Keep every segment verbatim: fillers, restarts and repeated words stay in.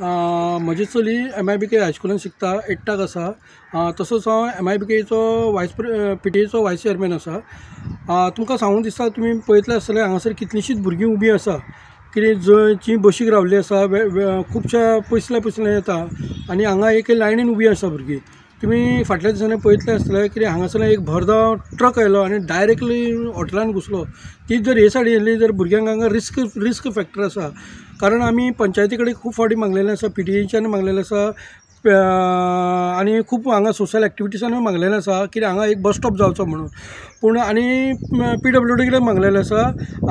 म्हजी चली M I B K हायस्कुलान शिकता, एट्टाक आसा. तसोच हांव एम I B केचो वायस पी टी एचो वायस चेअरमॅन आसा. तुमकां सांगूंक दिसता, तुमी पळयतले आसतले हांगासर कितलींशींच भुरगीं उबीं आसा, कितें जंय बशीक रावल्ली आसा, खुबश्या पयसल्या पयसल्यान येता आनी हांगा एक लायनीन उबीं आसा भुरगीं. तुमी फाटल्या दिसांनी पळयतले आसतले कितें हांगासर एक भरधांव ट्रक आयलो आनी डायरेक्टली हॉटेलान घुसलो. तीच जर हे सायडीन येयल्ली जर भुरग्यांक हांगा रिस्क रिस्क फॅक्टर आसा. कारण आमी पंचायती कडेन खूब फावटी मागलेलें आसा, पी टी एच्यान मागलेलें आसा आनी खूब हांगा सोशल एक्टिविटीजानूय मागलेलें आसा की हांगा एक बस स्टॉप जावचो म्हणून. पूण आनी पी डब्ल्यू डी कडेन मागलेलें आसा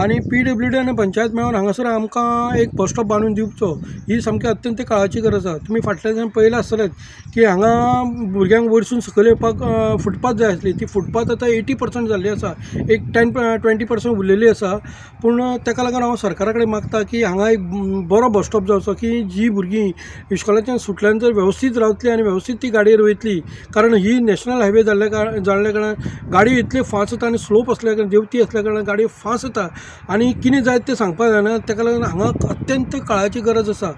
आनी पी डब्ल्यू डी आनी पंचायत मेळून हांगासर आमकां एक बस स्टॉप बांदून दिवचो ही सामकी अत्यंत काळाची गरज आसा. तुमी फाटल्या दिसांनी पळयलां आसतलेंच की हांगा भुरग्यांक वयरसून सकयल येवपाक फुटपाथ जाय आसली, ती फुटपाथ आतां एटी पर्संट जाल्ली आसा, एक टेन ट्वेंटी पर्संट उरलेली आसा. पूण ताका लागून हांव सरकारा कडेन मागता की हांगा एक बरो बस स्टॉप जावचो की जी भुरगीं इश्कोलाच्यान सुटल्या नंतर वेवस्थीत रावतली आनी वेवस्थीत ती गाडयेर वयतली. कारण ही नॅशनल हायवे जाल्ल्या कारणान जाल्ल्या कारणान गाडी इतली फास्ट येता आनी स्लोप आसल्या कारणान, देंवती आसल्या कारणान गाडी फास्ट येता आनी कितें जायत तें सांगपाक जायना. ताका लागून हांगा अत्यंत काळाची गरज आसा.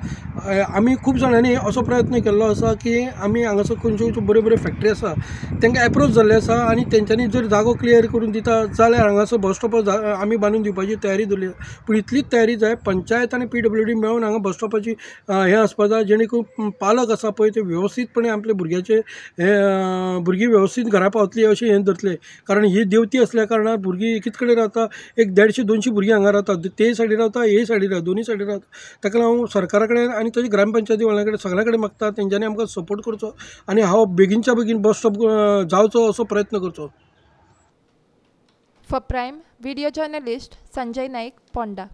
आमी खूब जाणांनी असो प्रयत्न केल्लो आसा की आमी हांगासर खंयच्यो खंयच्यो बऱ्यो बऱ्यो फॅक्टरी आसा तांकां एप्रोच जाल्ले आसा आनी तेंच्यांनी जर जागो क्लियर करून दिता जाल्यार हांगासर बस स्टॉप आमी बांदून दिवपाची तयारी दवरली. पूण इतलीच तयारी जाय, पंचायत आनी पी डब्ल्यू डी मेळून हांगा बस स्टॉपाची हें आसपा जाय, जेणे करून पालक आसा पळय ते वेवस्थीतपणे आपल्या भुरग्याचे हे भुरगीं वेवस्थीत घरा पावतली अशें हें धरतले. कारण ही देंवती आसल्या कारणान भुरगीं एकीच कडेन रावता, एक देडशे दोनशे भुरगीं हांगा रावतात, ते सायडीन रावता, हे सायडीन रावता, दोनूय सायडीन रावता. ताका लागून हांव सरकारा कडेन आनी तशें ग्रामपंचायती वाल्या कडेन सगळ्यां कडेन मागता तेंच्यांनी आमकां सपोर्ट करचो आनी हांव बेगीनच्या बेगीन बस स्टॉप जावचो असो प्रयत्न करचो. For Prime video journalist Sanjay Naik, Ponda.